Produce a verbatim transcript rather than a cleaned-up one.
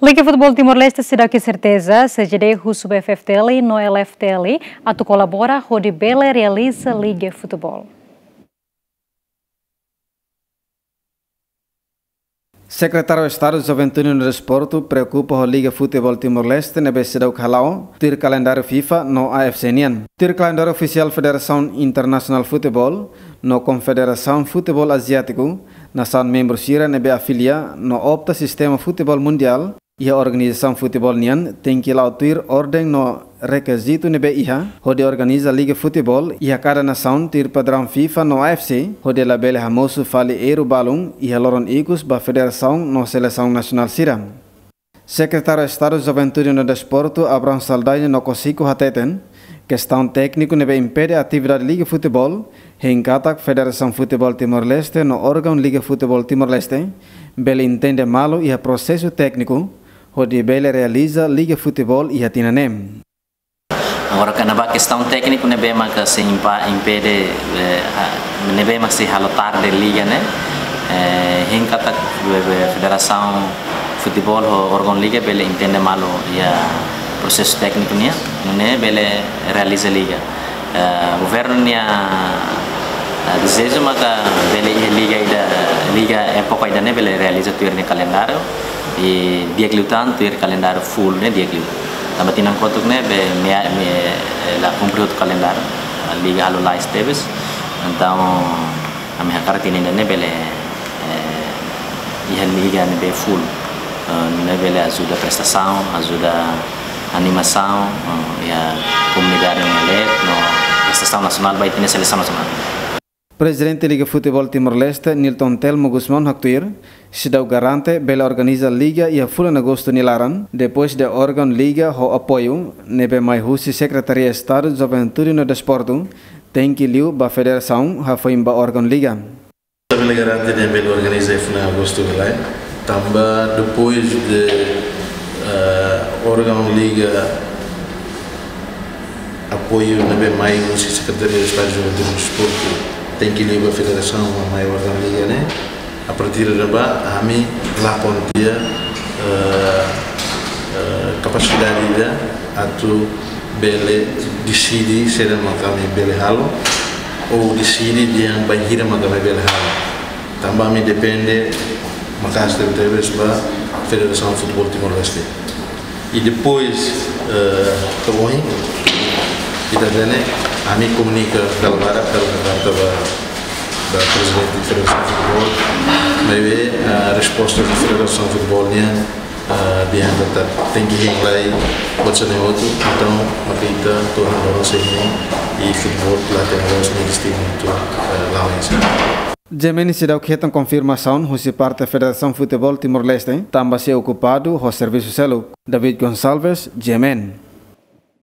Liga Futeból Timor-Leste seidauk iha serteza, C J D husu ba F F T L no L F T L atu kolabora hodi bele realiza liga futeból. Sekretáriu Estadu Juventude no Desportu preokupa ho Liga Futeból Timor-Leste ne'ebé seidauk hala'o tuir kalendáriu FIFA no A F C nian. Tuir kalendáriu ofisiál Federasaun Internasionál Futeból no Konfederasaun Futeból Aziátiku, nasaun membru sira ne'ebé afilia no opta sistema futeból mundiál iha organizasaun futeból nian tenke la'o tuir orden no rekizitu ne'ebé iha hodi organiza liga futeból iha kada nasaun tuir padraun FIFA no A F C, hodi labele hamosu fali erru balun iha loron ikus ba federasaun no selesaun nasionál sira. Sekretáriu Estadu Juventude no Desportu, Abrão Saldanha no Cosico hateten, kestaun tékniku ne'ebé impede atividade liga futeból, hein katak Federasaun Futeból Timor-Leste no órgaun Liga Futeból Timor-Leste bele entende malu iha prosesu tékniku hodi bele realiza liga futeból iha tinan ne'e. Agora, kona-ba kestaun tékniku ne'ebé maka sei impa-, impede, eh, ha-, ne'ebé maka sei halo tarde liga ne'e, eh, hein katak, eh, eh, federasaun futeból ho órgaun liga bele entende malu iha prosesu tékniku nian, nune'e bele realiza liga. Eh, governu nia, eh, dezeju maka bele iha liga ida, liga époka ida-ne'e bele realiza tuir nia kalendáriu, i di'ak liután tuir kalendáriu full ne'e di'ak liu. Tanba tinan kotuk ne'e be, me, me, eh, la kumpre hotu kalendáriu, eh, liga halo lais tebes. Entaun, ami hakarak tinan ida-ne'e bele, eh, iha liga ne'ebé full. Eh, ne'e bele ajuda prestasaun, ajuda animasaun, eh, iha komunidade nia leet, no prestasaun nasionál ba ita-nia selesaun nasionál. Prezidente Liga Futeból Timor-Leste, Nilton Telmo Gusmão haktuir, seidauk garante bele organiza liga iha fulan Agostu nia laran, depois de órgaun liga ho apoiu ne'ebé mai husi Sekretaria Estadu Juventude no Desportu, tenke liu ba federasaun hafoin ba órgaun liga. Ita bele garante ida bele organiza iha fulan Agostu nia laran, tanba depois de, eh, órgaun liga apoiu ne'ebé mai husi Sekretaria Estadu Juventude no Desportu, tenke liu ba federasaun, mai órgaun liga ne'e. A partir de ne'ebá, ami lakon tiha, eh, eh, kapasidade ida atu bele deside saida maka ami bele halo, ou deside dehan bainhira maka ami bele halo. Tanba ami depende maka'as tebetebes ba Federasaun Futeból Timor-Leste. I depois, eh, to'o ohin, ita hatene, ami komunika dala barak, dala barak ba, ba prezidente Federasaun Futeból, maibé, eh, resposta ba Federasaun Futeból nian, eh, dehan katak tenke hein lai, buat sira-ne'e hotu, entaun, maka ita to'o ohin loron sei hein, i futeból la hatene loos nia destinu atu, eh, la'o oinsá. G M N seidauk hetan konfirmasaun husi parte Federasaun Futeból Timor-Leste, tanba sei okupadu ho servisu seluk. David Gonçalves, G M N.